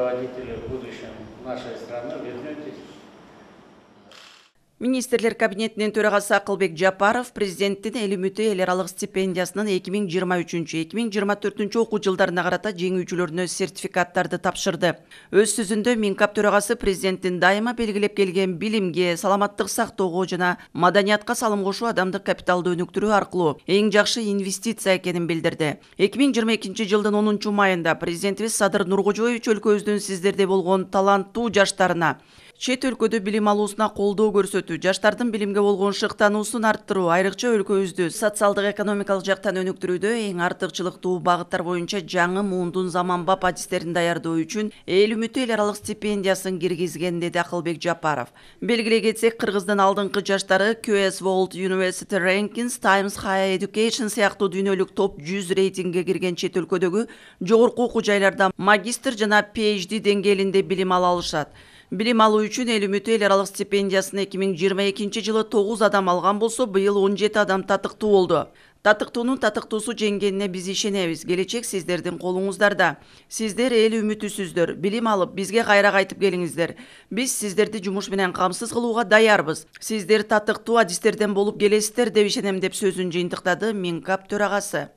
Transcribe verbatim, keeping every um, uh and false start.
руководители в будущем нашей страны, вернетесь. Министрлер кабинетинин төрагасы Акылбек Жапаров президенттин эл үмүтү эл аралык стипендиясынын эки миң жыйырма үчүнчү эки миң жыйырма төртүнчү окуу жылдарына карата жеңүүчүлөрүнө сертификаттарды тапшырды. Өз сөзүндө Минкап төрагасы президенттин дайыма белгилеп келген билимге, саламаттык сактоого жана маданиятка салым кошуу адамдык капиталды өнүктүрүү аркылуу эң жакшы инвестиция экенин билдирди. эки миң жыйырма экинчи жылдын онунчу майында президентибиз Садыр Нуркожоевич өлкөбүздүн сиздерде болгон таланттуу жаштарына чет өлкөдө билим алуусуна колдоо көрсөтүү, жаштардын билимге болгон шыктануусун арттыруу, айрыкча өлкөбүздү социалдык экономикалык жактан өнүктүрүүдө эң артыкчылыктуу багыттар боюнча жаңы муундун заманбап адистерин даярдоо үчүн эл үмүтү эл аралык стипендиясын киргизген, деди Акылбек Жапаров. Белгилей кетсек, Кыргыздын алдыңкы жаштары Q S World University Rankings, Times Higher Education сыяктуу дүйнөлүк топ жүз рейтингге кирген чет өлкөдөгү жогорку окуу жайларда магистр жана P H D деңгээлинде билим ала алышат. Билим алуу үчүн эл үмүтү эл аралык стипендиясын эки миң жыйырма экинчи жылы тогуз адам алган болсо, быйыл он жети адам татыктуу болду. Татыктуунун татыктуусу жеңгенине биз ишенебиз. Келечек сиздердин колуңуздарда. Сиздер эл үмүтүсүздөр. Билим алып, бизге кайра кайтып келиңиздер. Биз сиздерди жумуш менен камсыз кылууга даярбыз. Сиздер татыктуу адистерден болуп келесиздер деп ишенем, деп сөзүн жыйынтыктады Минкап төрагасы.